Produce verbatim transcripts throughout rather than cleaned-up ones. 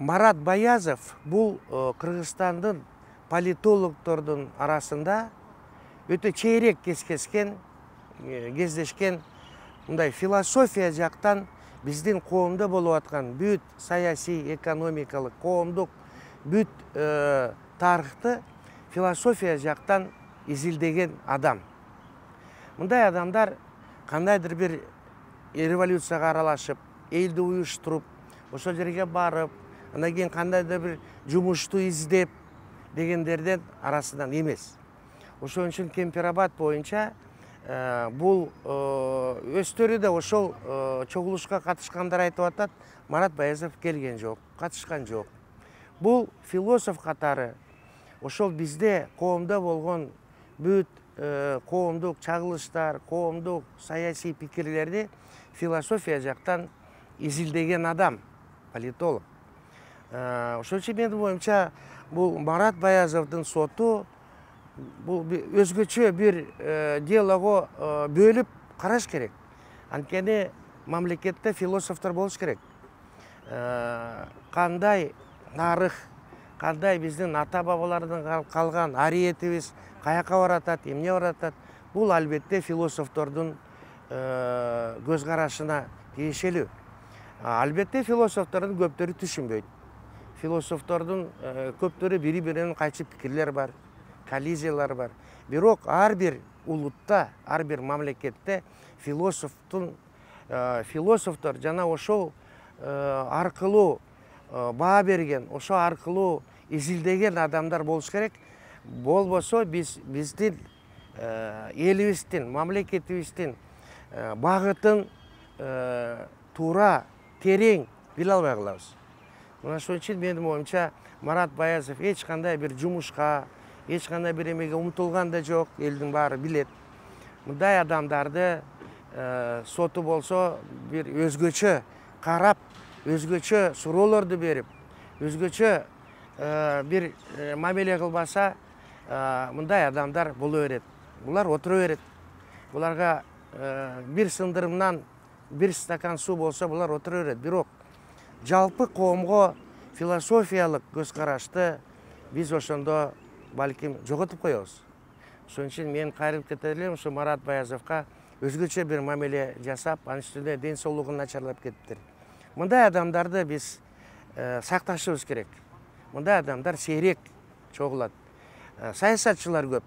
Марат Баязов бул Кыргызстандын политологдордун арасында өтө чейрек кездешкен кездешкен мындай философия жактан биздин коомдо болуп аткан бүт саясий, экономикалык, коомдук бүт тарыхты философия жактан изилдеген адам. Мындай адамдар кандайдыр бир революцияга аралашып, элди уюштуруп, ошол жерге барып, андан кийин кандайдыр бир жумушту издеп дегендерден арасынан эмес. Ошон үчүн Кемпирабад боюнча бул өздөрү да ошол чогулушка катышкандар айтып атат, Марат Баязов келген жок, катышкан жок. Бул философ катары ошол бизде коомдо болгон бүт коомдук чагылыштар, коомдук саясий пикирлерди философия жактан изилдеген адам, политолог. Ошон үчүн менин оюмча бул Марат Баязовдун соту бул өзгөчө бир делого бөлүп караш керек. Анткени мамлекетте философтор болуш керек. Кандай тарых, кандай биздин ата бабалардан калган ариетибиз каяка баратат, эмне баратат, бул албетте философтордун көз карашына тиешелүү. Албетте философтордун көптөрү түшүнбөйт. Философтордун көптөрү бири-биринен кайчы пикирлер бар, коллизиялар бар. Бирок ар бир улутта, ар бир мамлекетте философтун философтор жана ошол аркылуу баа берген, ошол аркылуу изилдеген адамдар болуш керек. Болбосо биз биздин элибиздин, мамлекетибиздин багытын туура, терең биле албай калабыз. Мына ошон үчүн менин оюмча Марат Баязов эч кандай бир жумушка, эч кандай бир эмеге умтулган да жок, элдин баары билет. Мындай адамдарды соту болсо бир өзгөчө карап, өзгөчө суроолорду берип, өзгөчө бир мамиле кылбаса, мындай адамдар боло берет. Булар отура берет. Буларга бир сындырымдан бир стакан суу болсо булар отура берет. Бирок жалпы коомго философиялык көз карашты биз ошондо балким жоготуп коебуз. Ошон үчүн мен кайрылып кете элем, ушу Марат Баязовго өзгөчө бир мамиле жасап, анын үстүнө ден соолугун начарлап кетиптир. Мындай адамдарды биз сакташыбыз керек. Мындай адамдар сейрек чогулат. Саясатчылар көп,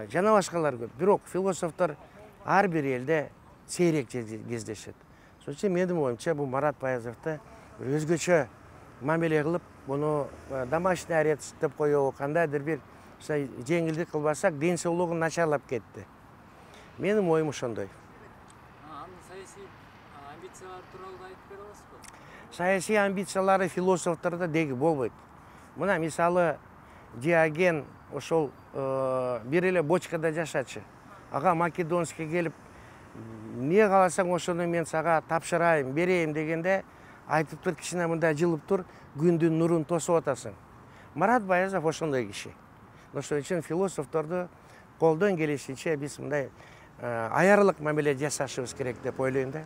жана башкалар көп. Бирок философтор ар бир элде сейрек кездешет. Ошон үчүн менин оюмча бул Марат Баязовду өзгөчө мамиле кылып, муну домашний арест деп коебу, кандайдыр бир жеңилдик кылбасак, ден соолугу начарлап кетти. Менин оюм ошондой. Анын саясий амбициялары тууралуу айтып бере аласызбы? Саясий амбициялары философтордо деги болбойт. Мына мисалы Диоген ошол бир эле бочкада жашачы. Ага Македонский келип, эмне кааласаң ошону мен сага тапшырайм, берейин дегенде айтып тур, кичине мындай жылып тур, күндүн нурун тосуп атасың. Марат Баязов ошондой киши. Ошон үчүн философторду колдон келишинче биз мындай аярылык мамиле жасашыбыз керек деп ойлойм да.